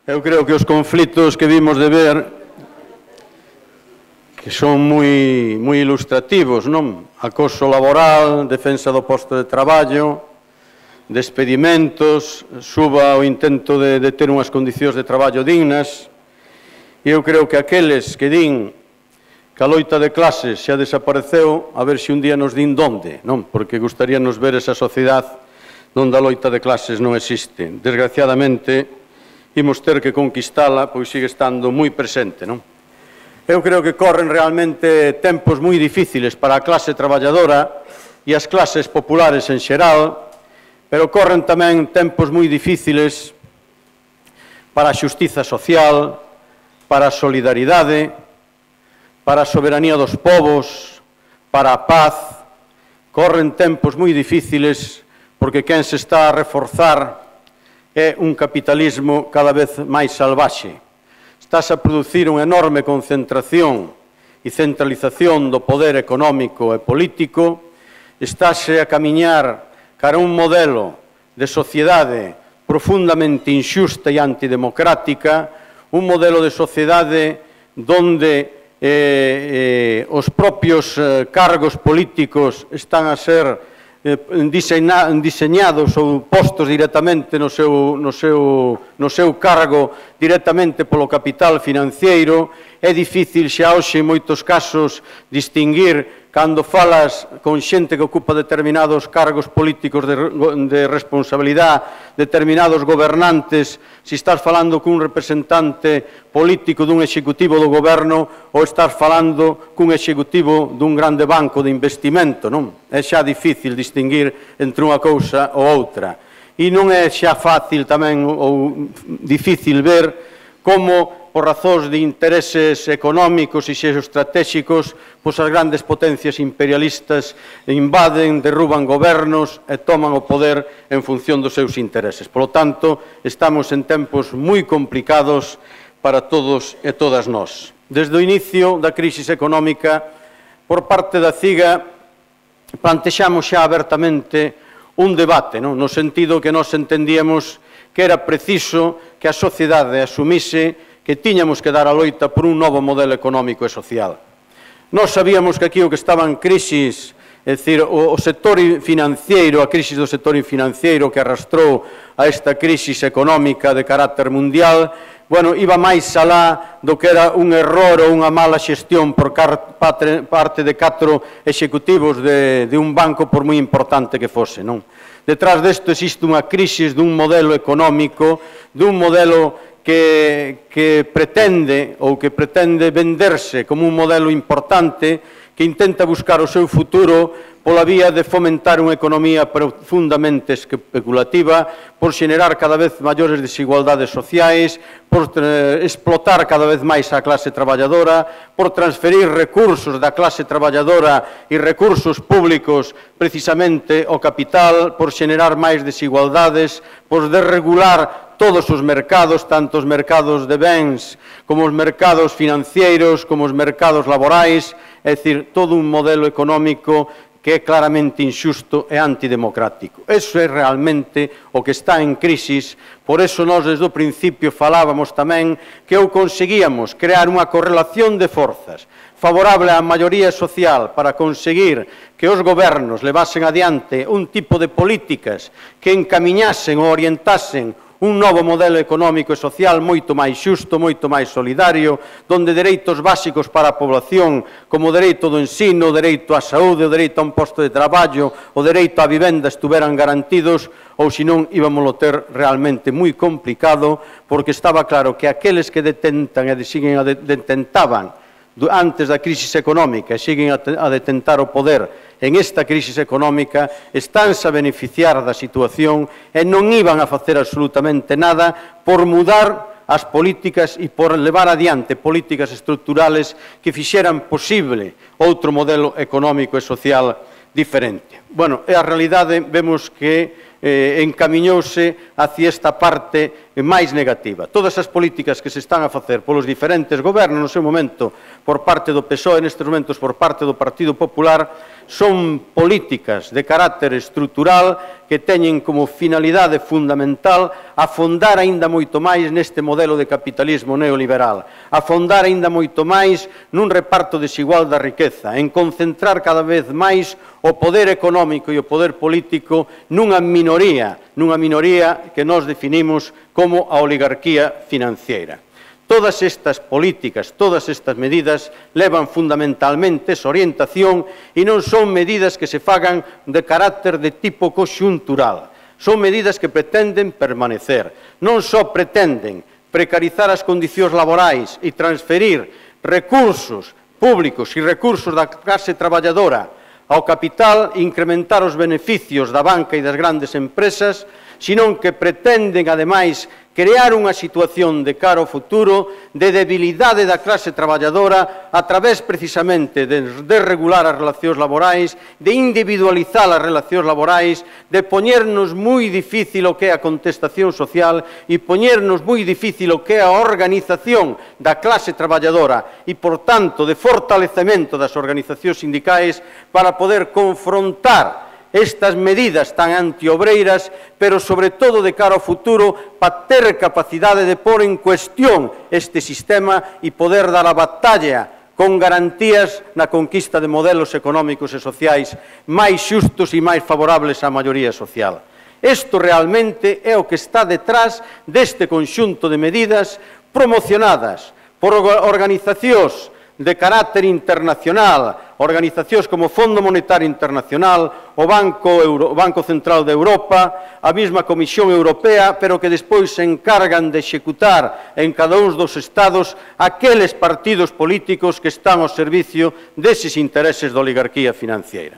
Eu creo que os conflitos que vimos de ver que son moi ilustrativos, non? Acoso laboral, defensa do posto de traballo, despedimentos, suba o intento de ter unhas condicións de traballo dignas. E eu creo que aqueles que din que a loita de clases xa desapareceu, a ver se un día nos din donde, non? Porque gustaríanos ver esa sociedade onde a loita de clases non existe. Desgraciadamente, imos ter que conquistala, pois sigue estando moi presente, non? Eu creo que corren realmente tempos moi difíciles para a clase traballadora e as clases populares en xeral, pero corren tamén tempos moi difíciles para a xustiza social, para a solidaridade, para a soberanía dos povos, para a paz. Corren tempos moi difíciles porque quen se está a reforzar é un capitalismo cada vez máis salvaxe. Estás a producir unha enorme concentración e centralización do poder económico e político, estás a camiñar cara a un modelo de sociedade profundamente inxusta e antidemocrática, un modelo de sociedade onde os propios cargos políticos están a ser diseñados ou postos directamente no seu cargo directamente polo capital financiero. É difícil xa hoxe en moitos casos distinguir cando falas con xente que ocupa determinados cargos políticos de responsabilidade, determinados gobernantes, se estás falando cun representante político dun executivo do goberno ou estás falando cun executivo dun grande banco de investimento, non? É xa difícil distinguir entre unha cousa ou outra. E non é xa fácil tamén ou difícil ver como, por razóns de intereses económicos e xeoestratégicos, pois as grandes potencias imperialistas invaden, derruban gobernos e toman o poder en función dos seus intereses. Por lo tanto, estamos en tempos moi complicados para todos e todas nós. Desde o inicio da crise económica, por parte da CIGA, plantexamos xa abertamente un debate, no sentido que nós entendíamos que era preciso que a sociedade asumise que tiñamos que dar a loita por un novo modelo económico e social. Nós sabíamos que aquí o que estaba en crisis, é dicir, o sector financiero, a crisis do sector financiero que arrastrou a esta crisis económica de carácter mundial, bueno, iba máis alá do que era un error ou unha mala xestión por parte de 4 executivos de un banco, por moi importante que fose, non? Detrás desto existe unha crisis dun modelo económico, dun modelo que pretende venderse como un modelo importante que intenta buscar o seu futuro pola vía de fomentar unha economía profundamente especulativa, por xenerar cada vez maiores desigualdades sociais, por explotar cada vez máis a clase traballadora, por transferir recursos da clase traballadora e recursos públicos precisamente ao capital, por xenerar máis desigualdades, por desregular todos os mercados, tanto os mercados de bens como os mercados financeiros, como os mercados laborais, é dicir, todo un modelo económico que é claramente inxusto e antidemocrático. Eso é realmente o que está en crisis. Por eso nós desde o principio falábamos tamén que ou conseguíamos crear unha correlación de forzas favorable á maioría social para conseguir que os gobernos levasen adiante un tipo de políticas que encamiñasen ou orientasen un novo modelo económico e social moito máis xusto, moito máis solidario, donde dereitos básicos para a población, como o dereito do ensino, o dereito á saúde, o dereito a un posto de traballo, o dereito á vivenda estuveran garantidos, ou senón íbamoslo ter realmente moi complicado, porque estaba claro que aqueles que detentaban antes da crisis económica e siguen a detentar o poder en esta crisis económica, estánse a beneficiar da situación e non iban a facer absolutamente nada por mudar as políticas e por levar adiante políticas estruturales que fixeran posible outro modelo económico e social diferente. Bueno, e a realidade vemos que encamiñouse hacia esta parte máis negativa. Todas as políticas que se están a facer polos diferentes gobernos no seu momento por parte do PSOE, nestes momentos por parte do Partido Popular, son políticas de carácter estrutural que teñen como finalidade fundamental afondar aínda moito máis neste modelo de capitalismo neoliberal, afondar aínda moito máis nun reparto desigual da riqueza, en concentrar cada vez máis o poder económico e o poder político nunha minoría que nós definimos como a oligarquía financiera. Todas estas políticas, todas estas medidas levan fundamentalmente esa orientación e non son medidas que se fagan de carácter de tipo conxuntural. Son medidas que pretenden permanecer. Non só pretenden precarizar as condicións laborais e transferir recursos públicos e recursos da clase traballadora ao capital e incrementar os beneficios da banca e das grandes empresas, senón que pretenden, ademais, crear unha situación de cara ao futuro de debilidade da clase traballadora a través precisamente de desregular as relacións laborais, de individualizar as relacións laborais, de poñernos moi difícil o que é a contestación social e poñernos moi difícil o que é a organización da clase traballadora e, por tanto, de fortalecemento das organizacións sindicais para poder confrontar estas medidas tan antiobreiras, pero sobre todo de cara ao futuro, para ter capacidade de pôr en cuestión este sistema e poder dar a batalla con garantías na conquista de modelos económicos e sociais máis xustos e máis favorables á maioría social. Isto realmente é o que está detrás deste conxunto de medidas promocionadas por organizacións de carácter internacional, organizacións como o Fondo Monetario Internacional, o Banco Central de Europa, a mesma Comisión Europea, pero que despois se encargan de executar en cada un dos Estados aqueles partidos políticos que están ao servicio deses intereses da oligarquía financiera.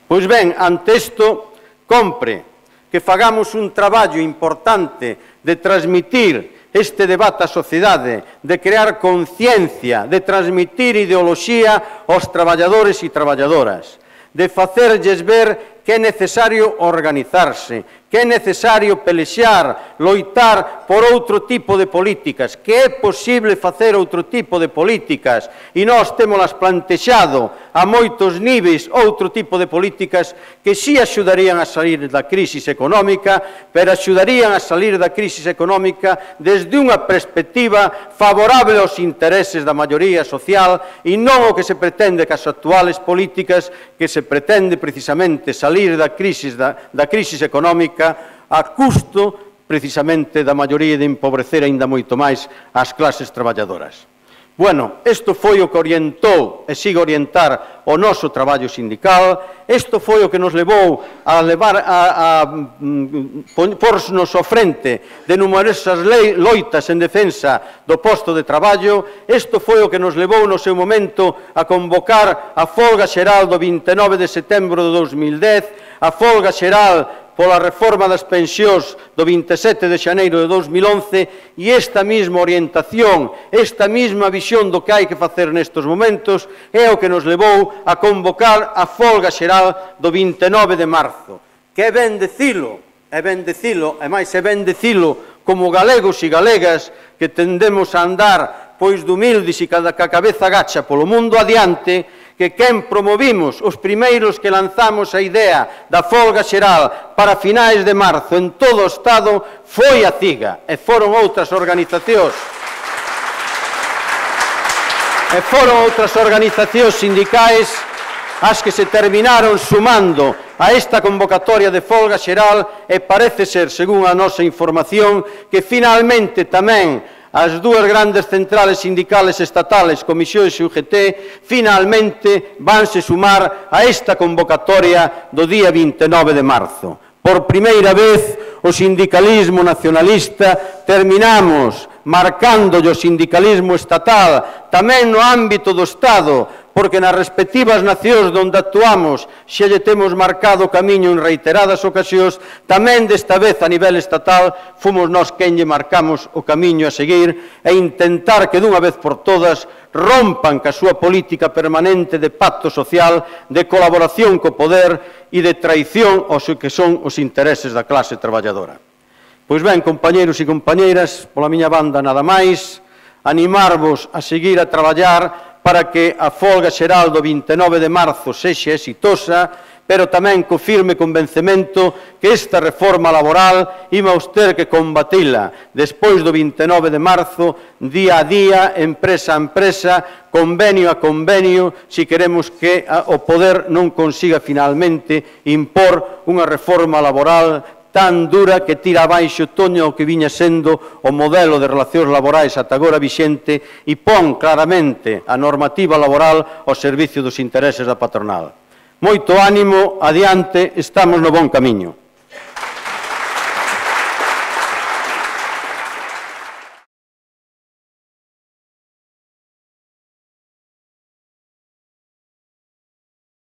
Pois ben, ante isto, compre que fagamos un traballo importante de transmitir este debate á sociedade, de crear conciencia, de transmitir ideoloxía aos traballadores e traballadoras, de facerlles ver que é necesario organizarse, que é necesario pelexar, loitar por outro tipo de políticas, que é posible facer outro tipo de políticas, e nós témolas plantexado a moitos niveis outro tipo de políticas que si axudarían a salir da crise económica, pero axudarían a salir da crise económica desde unha perspectiva favorable aos intereses da maioría social e non o que se pretende cas actuales políticas que se pretende precisamente salir da crise económica a custo precisamente da maioría de empobrecer aínda moito máis as clases traballadoras. Bueno, isto foi o que orientou e sigue orientar o noso traballo sindical, isto foi o que nos levou a pornos ao frente de numerosas loitas en defensa do posto de traballo, isto foi o que nos levou no seu momento a convocar a folga xeral do 29 de setembro de 2010, a folga xeral pola reforma das pensións do 27 de xaneiro de 2011 e esta mesma orientación, esta mesma visión do que hai que facer nestes momentos é o que nos levou a convocar a folga xeral do 29 de marzo. Que é ben dicilo, e máis é ben dicilo como galegos e galegas que tendemos a andar pois de humildes e ca cabeza gacha polo mundo adiante, que quen promovimos os primeiros que lanzamos a idea da folga xeral para finais de marzo en todo o Estado foi a CIGA e foron outras organizacións sindicais as que se terminaron sumando a esta convocatoria de folga xeral e parece ser, según a nosa información, que finalmente tamén as dúas grandes centrales sindicales estatales, Comisións e UGT, finalmente vanse sumar a esta convocatoria do día 29 de marzo. Por primeira vez, o sindicalismo nacionalista terminamos marcándolle o sindicalismo estatal tamén no ámbito do Estado porque nas respectivas nacións onde actuamos xa lle temos marcado o camiño en reiteradas ocasións, tamén desta vez a nivel estatal fomos nós quen lle marcamos o camiño a seguir e intentar que dunha vez por todas rompan ca súa política permanente de pacto social, de colaboración co poder e de traición aos que son os intereses da clase traballadora. Pois ben, compañeiros e compañeiras, pola miña banda nada máis, animarvos a seguir a traballar para que a folga xeral do 29 de marzo sexa exitosa, pero tamén co firme convencemento que esta reforma laboral imos ter que combatila despois do 29 de marzo, día a día, empresa a empresa, convenio a convenio, se queremos que o poder non consiga finalmente impor unha reforma laboral tan dura que tira abaixo todo o que viña sendo o modelo de relacións laborais ata agora vixente e pon claramente a normativa laboral ao servicio dos intereses da patronal. Moito ánimo, adiante, estamos no bon camiño.